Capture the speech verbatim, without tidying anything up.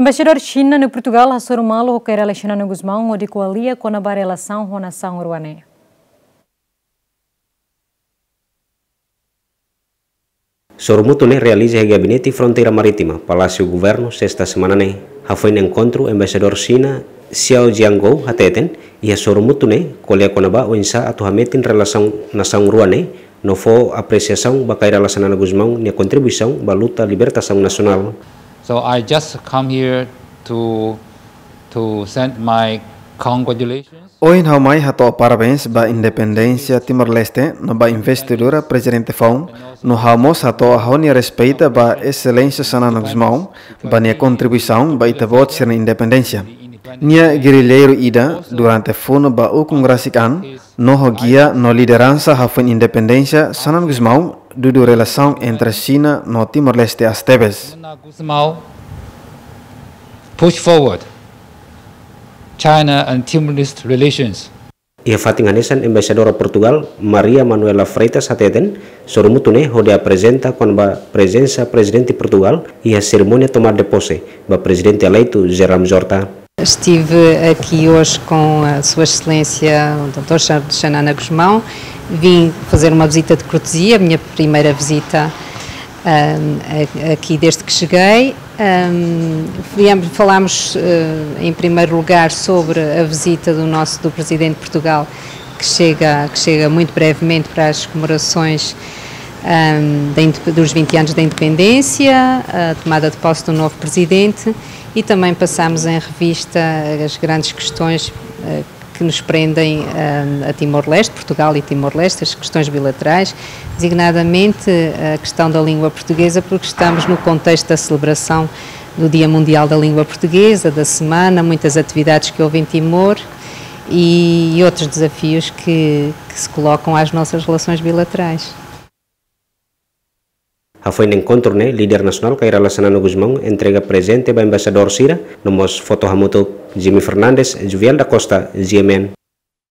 Embaixadór Xina iha Portugál hasoru malu ho Kay Rala Xanana Gusmão hodi ko'alia kona-ba relasaun ho nasaun rua ne'e. Soru mútuu ne'e realiza iha Gabinete Fronteira Marítima, Palásiu Governu, sesta semana ne'e. Hafoin enkontru, Embaixadór Xina, Xiao Jiangou, hateten, iha soru mútuu ne'e ko'alia kona-ba oinsá atu hametin relasaun nasaun rua ne'e, no fó apresiasaun ba Kay Rala Xanana Gusmão nia kontribuisaun ba luta libertasaun nasionál. So I just come here to, to send my congratulations. Ohin ha'u mai hato'o parabéns ba independénsia Timor-Leste no ba investidura Prezidente foun, no ha'u mós hato'o ha'u-nia respeita ba Exelénsia Xanana Gusmão, ba nia kontribuisaun ba ita-boot sira-nia independénsia. Nia gerilleiru ida durante funu ba ukun rasik an, no ho gia no lideransa hafoin independénsia Xanana Gusmão dudu relasaun entre Xina no Timor-Leste aas tebes. Xanana Gusmão push forward China and Timor-Leste relations. Iha fatin hanesan, Embaixadora Portugál, Maria Manuela Freitas, hateten, soru mútuu ne'e hodi aprezenta kona-ba prezensa Prezidente Portugál iha serimónia tomada de posse ba Prezidente eleitu José Ramos Horta. Estive aqui hoje com a Sua Excelência o doutor Xa-, Xanana Gusmão. Vim fazer uma visita de cortesia, a minha primeira visita, ahm, a-, aqui desde que cheguei. Ahm, viemos, falámos, eh, em primeiro lugar sobre a visita do nosso, do Presidente de Portugal, que chega, que chega muito brevemente para as comemorações, ahm, da inde-, dos vinte anos da independência, a tomada de posse do novo Presidente. E também passámos em revista as grandes questões, eh, que nos prendem, eh, a Timor-Leste, Portugal e Timor-Leste, as questões bilaterais, designadamente a questão da língua portuguesa, porque estamos no contexto da celebração do Dia Mundial da Língua Portuguesa, da semana, muitas atividades que houve em Timor e, e outros desafios que, que se colocam às nossas relações bilaterais. Hafoin enkontru ne'e, líder nasionál Kay Rala Xanana Gusmão entrega prezente ba embaixadór sira, no mós foto hamutuk. Jimmy Fernandes, Juviel da Costa, G M N.